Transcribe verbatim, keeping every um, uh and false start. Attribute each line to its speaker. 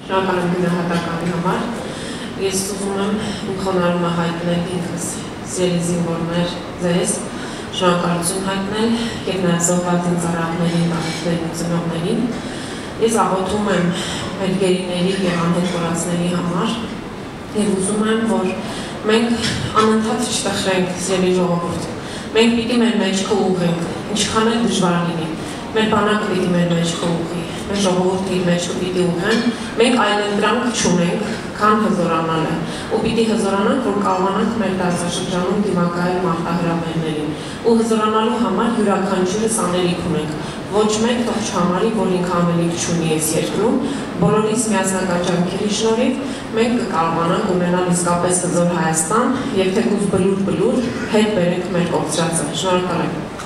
Speaker 1: Շնորհակալ եմ գնահատականի համար։ Ես ուզում եմ իմ խոնարհումը հայտնել ինքս սիրելի զինվորներ ձեզ, շնորհակալություն հայտնել եւ նաեւ զոհված ծառայողներին, բնակիչներին ու ծնողներին։ Ես աղոթում եմ մեր գերիների եւ անհետ կորածների համար եւ ուզում եմ, որ մենք անընդհատ չտխրենք սիրելի ժողովուրդ։ Մենք պիտի մեր մեջքը ուղղենք, ինչքան էլ դժվար լինի։ Մեր բանակը պիտի մեր մեջքը ուղղի, մեր ժողովուրդը իր մեջքը պիտի ուղղեն, մենք այլընտրանք չունենք, քան հզորանալը, ու պիտի հզորանանք, որ կարողանանք մեր տարածաշրջանում դիմակայել մարտահրավերներին, ու հզորանալու համար յուրաքանչյուրս անելիք ունենք, ոչ մեկ թող չհամարի, որ ինքը անելիք չունի այս երկրում, բոլորիս միասնական ջանքերի շնորհիվ մենք կկարողանանք ունենալ իսկապես հզոր Հայաստան եւ թեկուզ բլուր-բլուր հետ բերենք մեր կորցրածը։ Շնորհակալ եմ։